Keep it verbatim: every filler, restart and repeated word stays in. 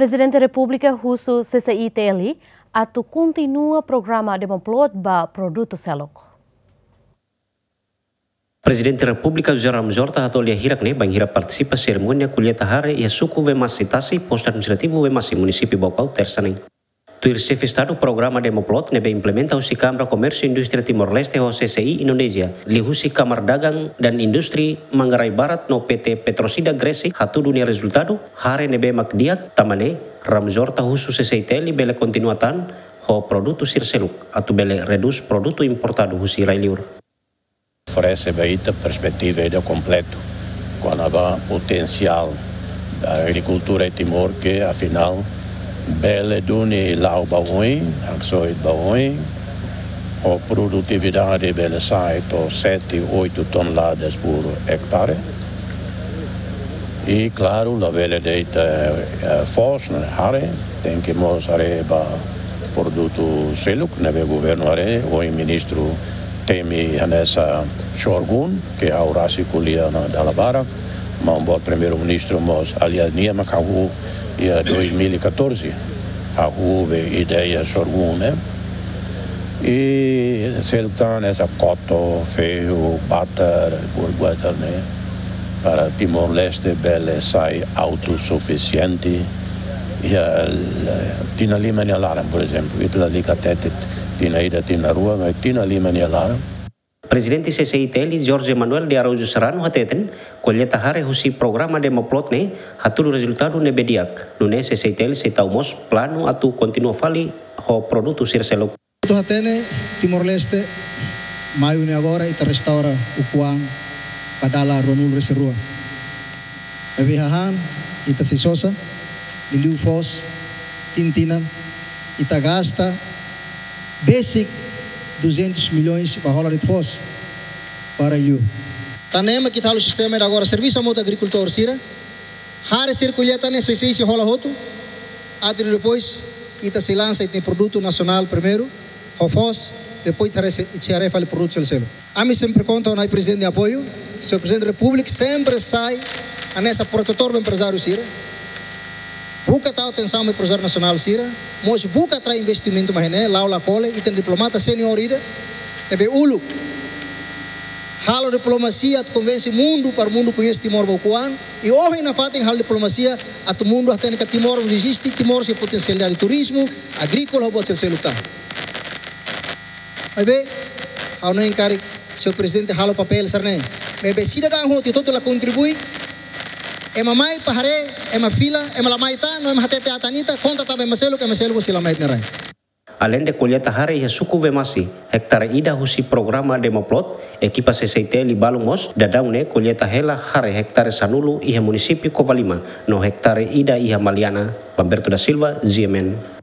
Prezidente Repúblika husu C C I T L atu kontinua programa Demoplot ba produtu seluk. Prezidente Repúblika José Ramos Horta hato'o lia hirak ne'e bainhira partisipa serimónia kolleita hare iha suku Wemasi Tasi, postu administrativu Wemasi, munisípiu Baucau, tersa ne'e. Tuir xefe Estadu, programa Demoplot ne'ebé implementa husi Kámara Komérsiu Indústria Timor-Leste ho C C I Indonézia, liuhusi Kámara Dagang dan Indústria Manggarai Barat no P T Petrosida Gresik, hatudu nia rezultadu, hare ne'ebé mak di'ak. Tanba ne'e, Ramos Horta husu C C I T L bele kontinua tan ho produtu sira seluk, atu bele redús produtu importadu husi rai-liur. Oferese ba ita perspetiva ida kompletu kona-ba potensiál agrikultura iha Timor, ke afinál bele duni la'o ba oin, haksoit ba oin, ho produtividade bele sai to'o sete, oito toneladas por hectare. I klaru, labele deita, eh, foos ne'e hare, tenke mós haree ba produtu seluk ne'ebé governu haree, ohin ministru temi hanesan sorghum, ke ha'u rasik ko'alia ona dala barak, maun boot primeiru-ministru mós, aliás, nia mak hahú iha dois mil e catorze, hahú be ideia sorghum ne'e. I seluk tan hanesan koto, fehu, batar, buat-buat ne'e, para Timor-Leste bele sai autosufisiente. Iha tinan lima nia laran, por ezemplu, ita lalika hatete tinan ida, tinan rua, maibé tinan lima nia laran. Prezidente C C I T L, Jorge Manuel de Araújo Serrano, hateten, kolleita hare husi programa Demoplot ne'e hatudu rezultadu ne'ebé di'ak. Nune'e C C I T L sei tau mós planu atu kontinua fali ho produtu sira seluk. Atu hatene, Timor-Leste, maiu ne'e agora ita restaura ukun-an ba dala ruanulu-resin-rua. Maibé hahán, ita sei sosa, liuliu foos, tinan-tinan, ita gasta besik duzentos milhões ba hola de'it foos ba rai-liur. Tan ne'e mak ita halo sistema ida agora, servisu hamutuk ho agrikultór sira, hare sira kolleita ne'e sei, sei, sei hola hotu, atu depois ita sei lansa ita-nia produtu nasionál primeiru, ho foos, depois ita haree se, ita sei haree fali produtu seluk-seluk. Ami sempre konta ho Na'i Prezidente nia apoiu, Señór Prezidente Repúblika sempre sai hanesan protetór ba emprezáriu sira. Buka tau atensaun ba emprezáriu nasionál sira, mós buka atrai investimentu mai ne'e, la'o la kole, ita-nia diplomata seniór ida, ne'ebé uluk halo diplomasia atu konvense mundu, para mundu koñese Timor ba ukun-an, i ohin nafatin halo diplomasia atu mundu hatene katak Timor mós eziste, Timor sei potensialidade turizmu, agríkola, ho buat seluk-seluk tan. Maibé, ha'u hanoin karik, Señór Prezidente halo papél sira-ne'e. Maibé sidadaun hotu, hotu-hotu la kontribui, ema mai para haree, ema fila, ema la mai tan, no ema hatete atan ita, konta tan ba ema seluk, ema seluk sei la mai ita-nia rai. Aleinde kolleita hare iha suku Wemasi, hektare ida husi programa Demoplot, ekipa C C I T L balun mós daudaun ne'e kolleita hela hare hektare sanulu iha munisípiu Covalima, no hektare ida iha Maliana. Lamberto da Silva, G M N.